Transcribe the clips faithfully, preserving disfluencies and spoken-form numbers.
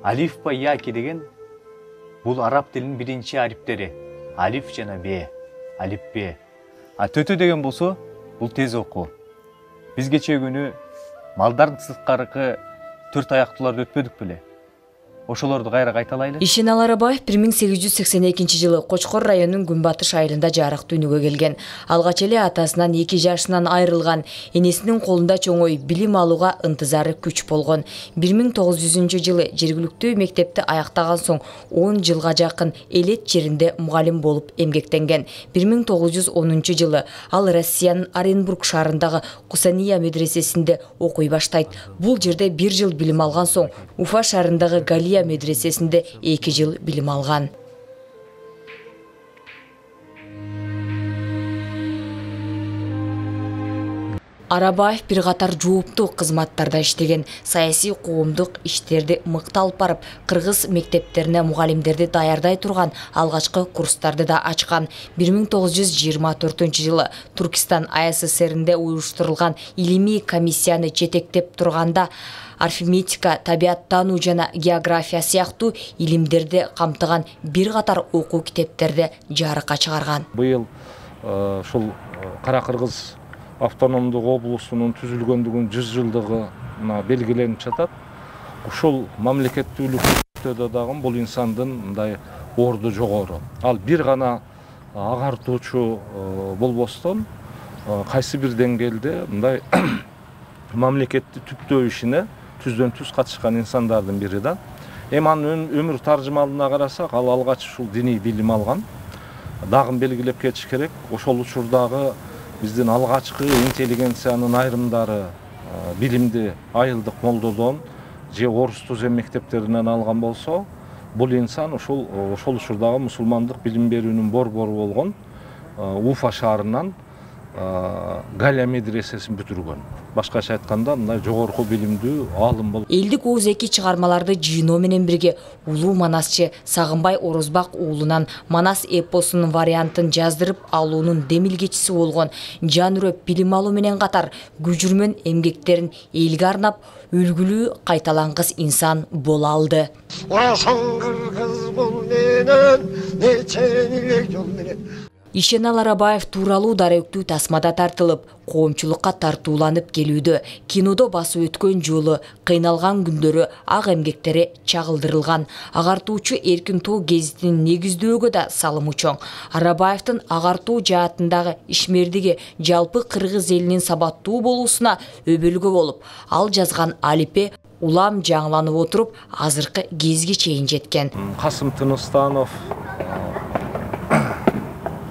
Алиф ба яки деген бул араб тилинин биринчи ариптери. Алиф жана б, алифбе. А төтө деген болсо бул тез окуу. Биз кечээ күнү малдардын сырткаркы төрт аяктууларды өтпөдүк беле? Ошолорду кайра кайталайлы. Ишенал Арабаев бир миң сегиз жүз сексен экинчи жылы Кочкор районунун Күнбатыш айылында жарык дүйнөгө келген. Алгач эле атасынан эки жашынан айрылган, энесинин колунда чоңой билим алууга ынтызары күч болгон. бир миң тогуз жүзүнчү жылы жергиликтүү мектепти аяктаган соң он жылга жакын Элет жеринде мугалим болуп эмгектенген. бир миң тогуз жүз онунчу жылы ал Россиянын Оренбург шаарындагы Кусания медресесинде окуй баштайт. Бул жерде бир жыл билим алган соң Уфа шаарындагы Галия медресесинде эки жыл билим алган. Арабаев бир катар жооптуу кызматтарда иштеген, саясий коомдук иштерди мыкты алып барып, кыргыз мектептерине мугалимдерди даярдай турган алгачкы курстарды да ачкан. бир миң тогуз жүз жыйырма төртүнчү жылы Туркистан АССРинде уюштурулган илимий комиссияны жетектеп турганда арифметика, табияттануу жана география сыяктуу илимдерди камтыган бир катар окуу китептерди жарыкка чыгарган. Быйыл ушул Кара Кыргыз автономдук облусунун түзүлгөндүгүнүн жүз жылдыгына белгиленип жатат. Ушул мамлекеттүүлүктө дагы бул инсандын мындай орду жогору. Ал бир гана агартуучу болбостон кайсы бир деңгээлде мындай мамлекетти түптөө ишине түздөн түз катышкан инсандардын бири да. Эми анын өмүр таржымалына карасак, ал алгач ушул диний билим алган. Дагы белгилеп кетиш керек. Ошол учурдагы биздин алгачкы интеллигенциянын айрымдары билимди айылдык молдодон же орус түзем мектептеринен алган болсо, бул инсан ушул ошол учурдагы мусулмандык билим берүүнүн борбору болгон Уфа шаарынан Галия медресесин бүтүргөн. Башкача айтканда, мындай жогорку билимдүү аалым болуп. Элдик оозеки чыгармаларды жыйноо менен бирге улуу манасчы Сагынбай Орозбак уулунан Манас эпосунун вариантын жаздырып алуунун демилгечиси болгон. Жанүрөп билим алуу менен катар күжүрмөн эмгектерин элге арнап, үлгүлүү кайталангыс инсан боло алды. Ишенал Арабаев тууралуу даректүү тасмада тартылып, коомчулукка тартууланып келүүдө. Кинодо басып өткөн жолу, кыйналган күндөрү, ак эмгектери чагылдырылган. Агартуучу Эркин Тоо гезитин негиздөөгө да салымы чоң. Арабаевдин агартуу жаатындагы ишмердиги жалпы кыргыз элинин сабаттуу болуусуна өбөлгө болуп, ал жазган алипе улам жаңыланып отуруп, азыркы кезге чейин жеткен. Касым Тыныстанов,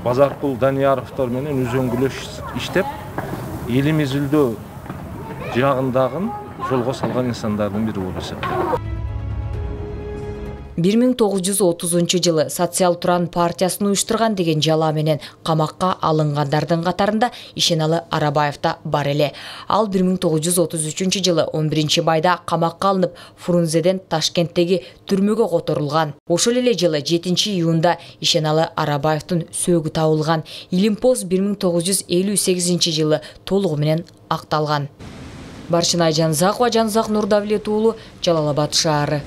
Базаркул Данияровдор менен үзөңгүлөш иштеп, элим изилдөө жагындагы жолго салган инсандардын бири болуп эсептелет. бир миң тогуз жүз отузунчу жылы Социал Туран партиясын уюштурган деген жала менен камакка алынгандардын катарында Ишеналы Арабаев да бар эле. Ал бир миң тогуз жүз отуз үчүнчү жылы он биринчи майда камакка алынып, Фрунзеден Ташкенттеги түрмөгө которулган. Ошол эле жылы жетинчи июнда Ишеналы Арабаевдин сөөгү табылган. Илимпоз бир миң тогуз жүз элүү сегизинчи жылы толугу менен акталган. Баршынай Жанзакова, Жанзак Нурдавлет уулу, Жалал Абад шаары.